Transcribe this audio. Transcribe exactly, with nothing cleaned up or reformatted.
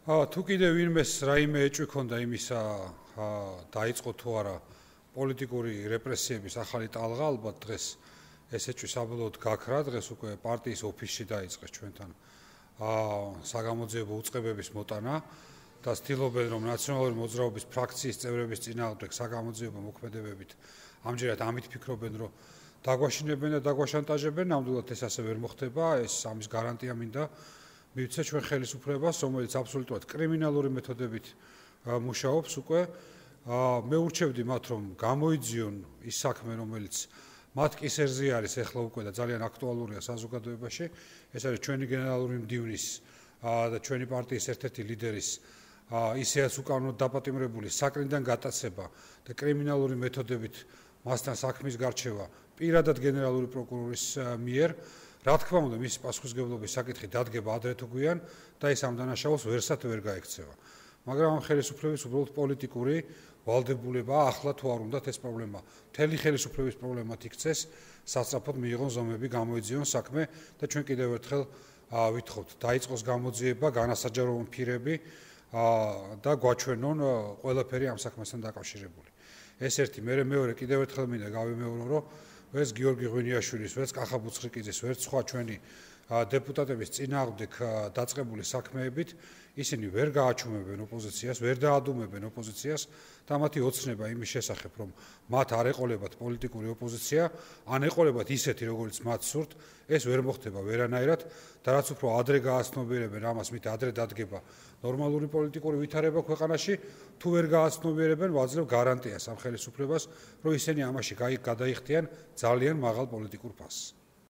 თუ კიდევ ვინმეს რაიმე ეჭვი ქონდა იმისა დაიწყო თუ არა პოლიტიკური რეპრესიების ახალი ტალღა, ალბათ დღეს ეს ეჭვი საბოლოოდ გაქრა, დღეს უკვე პარტიის ოფისში დაიწყეს ჩვენთან საგამოძიებო უწყებების მოტანა და ცდილობენ რომ ნაციონალური მოძრაობის ფრაქციის წევრების წინააღმდეგ საგამოძიებო მოქმედებებით ამჯერად ამით ფიქრობენ რომ დაგვაშინებენ და დაგვაშანტაჟებენ, ნამდვილად ეს ასე ვერ მოხდება, ეს ამის გარანტია მინდა მივცე ჩვენ ხელისუფლებას, რომელიც აბსოლუტურად კრიმინალური მეთოდებით მუშაობს უკვე. მე ურჩევდი მათ რომ გამოიძიონ ის საქმე, რომელიც მათ კისერზე არის ახლა უკვე და ძალიან აქტუალურია საზოგადოებაში. ეს არის ჩვენი გენერალური მდივნის და ჩვენი პარტიის ერთ-ერთი ლიდერის ისეაც უკანონოდ დაპატიმრებული საკრიდან გატაცება და კრიმინალური მეთოდებით მასთან საქმის გარჩევა პირადად გენერალური პროკურორის მიერ. რა თქმა უნდა, მისი პასუხისმგებლობის საკითხი დადგება ადრე თუ გვიან და ეს ამ დანაშაულს ვერსად ვერ გაექცევა. მაგრამ ამ ხელისუფლების უბრალოდ პოლიტიკური ვალდებულებაა ახლა თუ არ უნდათ ეს პრობლემა. მთელი ხელისუფლების პრობლემად იქცეს, სასწრაფოდ მიიღონ ზომები, გამოიძიონ საქმე და ჩვენ კიდევ ერთხელ ვითხოვთ, დაიწყოს გამოძიება, განასაჯაროონ ფირები და გვაჩვენონ ყველაფერი ამ საქმესთან დაკავშირებული. ეს ერთი, მე მეორე კიდევ ერთხელ მინდა გავიმეორო, რომ ვერც გიორგი ღვინიაშვილის, ვერც კახა ბუცხრიკიძის, ვერც სხვა ჩვენი დეპუტატების წინააღმდეგ დაწყებული საქმეებით ისინი ვერ გააჩუმებენ ოპოზიციას, ვერ დაადუმებენ ოპოზიციას და მათი ოცნება იმის შესახებ, რომ მათ არ ეყოლებათ პოლიტიკური ოპოზიცია, ან ეყოლებათ ისეთი, როგორც მათ სურთ, ეს ვერ მოხდება ვერანაირად და რაც უფრო ადრე გააცნობიერებენ ამას, მით ადრე დადგება ნორმალური პოლიტიკური ვითარება ქვეყანაში, თუ ვერ გააცნობიერებენ, ვაძლევ გარანტიას ამ ხელისუფლებას, რომ ისინი ამაში გადაიხდიან ძალიან მაღალ პოლიტიკურ ფასს.